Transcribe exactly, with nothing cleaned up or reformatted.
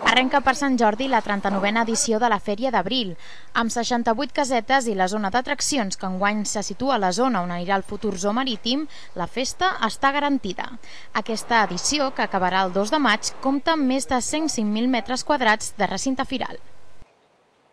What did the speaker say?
Arrenca per Sant Jordi la trenta-novena edició de la Fèria d'Abril. Amb seixanta-vuit casetes i la zona d'atraccions que enguany se situa a la zona on anirà el futur zoo marítim, la festa està garantida. Aquesta edició, que acabarà el dos de maig, compta amb més de cent cinc mil metres quadrats de recinte firal.